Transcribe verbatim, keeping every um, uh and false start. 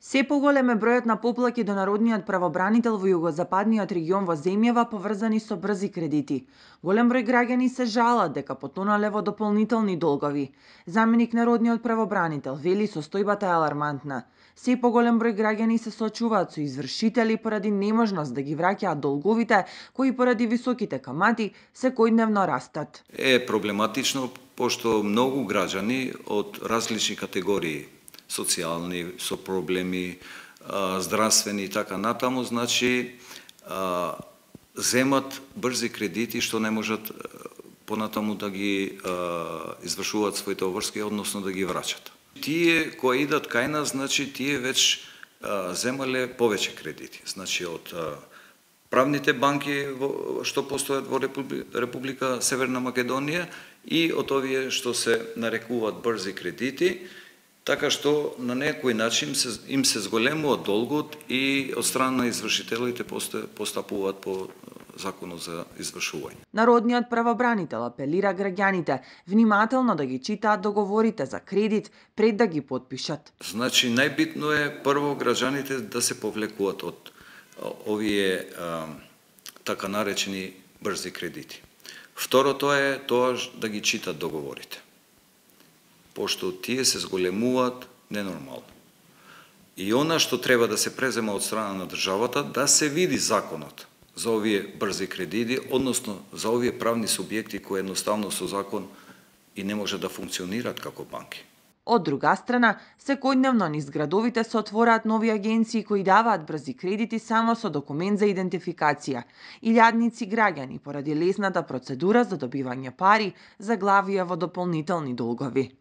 Се поголем е бројот на поплаки до народниот правобранител во југозападниот регион во земјава поврзани со брзи кредити. Голем број граѓани се жалат дека потонале во дополнителни долгови. Заменик народниот правобранител вели состојбата е алармантна. Се поголем број граѓани се соочуваат со извршители поради неможност да ги враќаат долговите кои поради високите камати секојдневно растат. Е проблематично пошто многу граѓани од различни категории социјални, со проблеми, здравствени и така натаму, значи земат брзи кредити што не можат понатаму да ги извршуваат своите обврски, односно да ги враќат. Тие кои идат кај нас, значи тие веќе земале повеќе кредити. Значи од правните банки што постојат во Република Северна Македонија и од овие што се нарекуваат брзи кредити, така што на некој начин им се зголемува долгот и од страна на извршителите постапуваат по законот за извршување. Народниот правобранител апелира граѓаните внимателно да ги читаат договорите за кредит пред да ги потпишат. Значи најбитно е прво граѓаните да се повлекуваат од овие а, така наречени брзи кредити. Второто е тоа да ги читат договорите, пошто тие се зголемуваат ненормално. И она што треба да се презема од страна на државата, да се види законот за овие брзи кредити, односно за овие правни субјекти кои едноставно со закон и не може да функционираат како банки. Од друга страна, секојдневно низ градовите се отвораат нови агенции кои даваат брзи кредити само со документ за идентификација. Илјадници граѓани поради лесната процедура за добивање пари заглавија во дополнителни долгови.